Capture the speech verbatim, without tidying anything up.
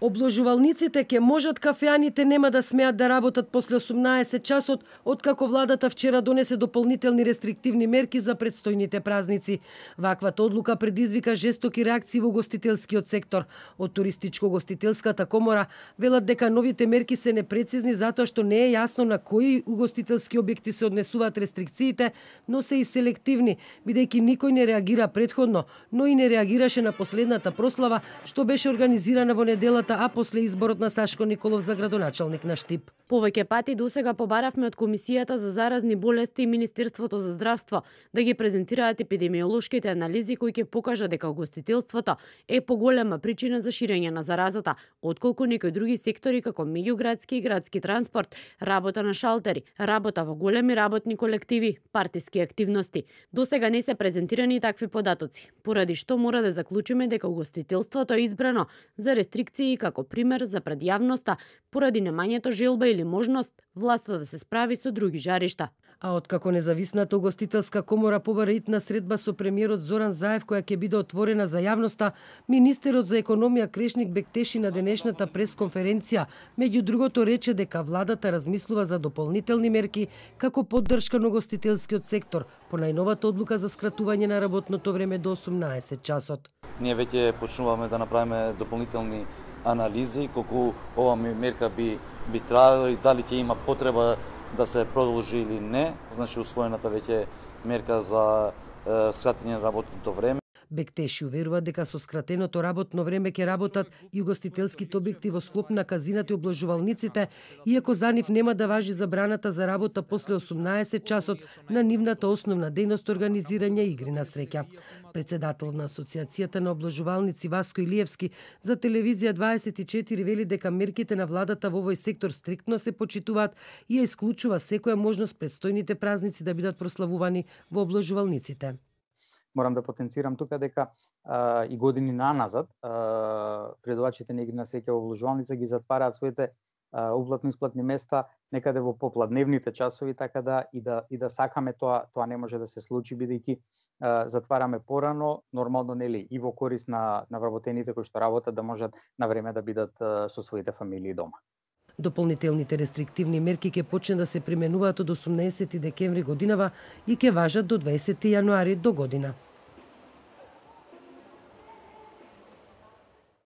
Обложувалниците ќе можат, кафеаните нема да смеат да работат после осумнаесет часот, откако владата вчера донесе дополнителни рестриктивни мерки за предстојните празници. Ваквата одлука предизвика жестоки реакции во угостителскиот сектор. Од туристичко-угостителската комора велат дека новите мерки се непрецизни затоа што не е јасно на кои угостителски објекти се однесуваат рестрикциите, но се и селективни, бидејќи никој не реагира претходно, но и не реагираше на последната прослава што беше организирана во неделата, а после изборот на Сашко Николов за градоначалник на Штип. Повеќе пати досега побаравме од Комисијата за заразни болести и Министерството за здравство да ги презентираат епидемиолошките анализи кои ќе покажат дека угостителството е поголема причина за ширење на заразата, отколку некои други сектори како меѓуградски и градски транспорт, работа на шалтери, работа во големи работни колективи, партиски активности. Досега не се презентирани такви податоци, поради што мора да заклучиме дека угостителството е избрано за рестрикции како пример за пред јавноста поради немањето желба или можност власта да се справи со други жаришта. А откако независната угостителска комора побара итна средба со премиерот Зоран Заев која ќе биде отворена за јавноста, министерот за економија Крешник Бектеши на денешната пресконференција меѓу другото рече дека владата размислува за дополнителни мерки како поддршка на угостителскиот сектор по најновата одлука за скратување на работното време до осумнаесет часот. Ние веќе почнуваме да направиме дополнителни анализи колку ова мерка би би трajala и дали ќе има потреба да се продолжи или не. Значи усвоената веќе мерка за е, скратење на работното време. Бектеши уверува дека со скратеното работно време ќе работат и угостителските објекти во склоп на казината и обложувалниците, иако за нив нема да важи забраната за работа после осумнаесет часот на нивната основна дејност организирање игри на среќа. Председател на Асоциацијата на обложувалници Васко Илиевски за телевизија дваесет и четири вели дека мерките на владата во овој сектор стриктно се почитуваат и ја исклучува секоја можност предстојните празници да бидат прославувани во обложувалниците. Морам да потенцирам тука дека а, и години наназад предавачите на игри на среќа во обложувалница ги затвараат своите уплатно-исплатни места некаде во попладневните часови, така да и да и да сакаме тоа тоа не може да се случи бидејќи затвараме порано, нормално нели и во корист на на вработените кои што работат да можат на време да бидат со своите фамилии дома. Дополнителните рестриктивни мерки ќе почне да се применуваат од осумнаесети декември годинава и ќе важат до дваесети јануари до година.